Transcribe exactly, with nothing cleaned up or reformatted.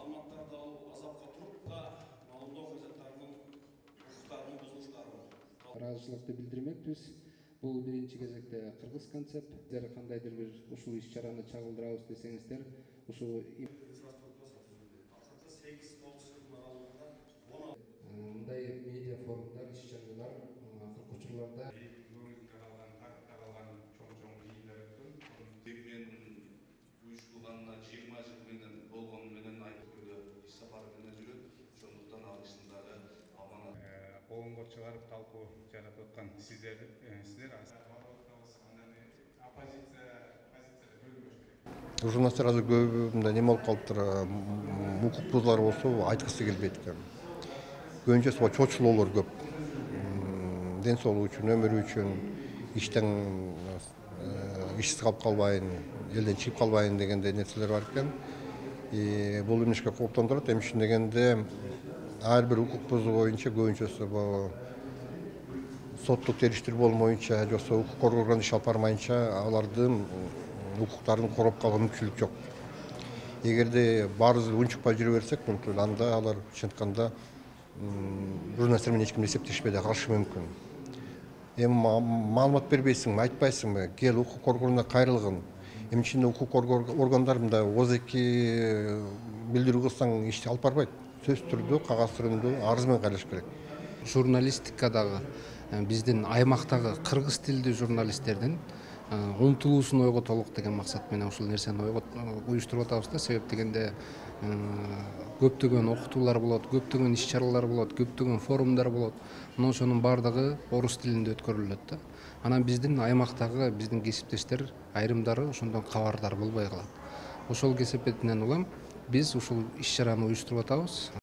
маалыматтарды алуу, азапка туруп да маалымдоо кызматтарынын укуктарынын бузулуштарын ыраазычылыкты билдирмекпиз. Бул биринчи кезекте кыргыз концепт. Сиздер кандайдыр бир ушул иш-чараны чагылдырабыз десеңиздер, ушу мындай медиа форумдар, иш-чаралар акыркы учурларда уюштурганына жыйырма жыл менен болгону менен айтканда иш сапары менен жүрөт. Ошондуктан ал ишин дагы аманат коомго чыгарып талкуу жаратып аткан сиздер сиздер журналисттер азыр көбү мындай неме болуп калыптыр, укук бузуулар болсо айткысы келбейт экен. Көбүнчөсү чочулоолор көп. Ден соолугу үчүн, өмүрү үчүн, иштен ишсиз калып калбайын, элден чыгып калбайын дегендей нерселер бар экен. Бул эмнешке кооптондурат? Эми ушун дегенде ар бир укук бузуу боюнча көбүнчөсү соттук териштирүү болмоюнча, же болбосо укук коргоо орган иш алып бармайынча алардын укуктарын короп калган мүмкүнчүлүк жок. Эгерде баарыбыз унчукпай жүрө берсек, анда алар чынтканда журналисттер менен эч ким эсептешпей да калышы мүмкүн. Эми маалымат бербейсиңби, айтпайсыңбы, кел укук коргоонуна кайрылгын. Эми ичинде укук коргоо органдары мындай ооз эки билдирүү кылсаң ишти алып барбайт. Сөзсүз түрдө, кагаз түрүндө арыз менен кайрылыш керек. Журналистикадагы биздин аймактагы кыргыз тилдүү журналисттердин умтулуусун ойготолук деген максат менен ушул нерсени уюштуруп атабыз да. Себеп дегенде көптөгөн окутуулар болот, көптөгөн иш-чаралар болот, көптөгөн форумдар болот. Мына ошонун баардыгы орус тилинде өткөрүлөт да. Анан биздин аймактагы биздин кесиптештер айрымдары ошондон кабардар болбой калат. Ошол кесепетинен улам биз ушул иш-чараны уюштуруп атабыз.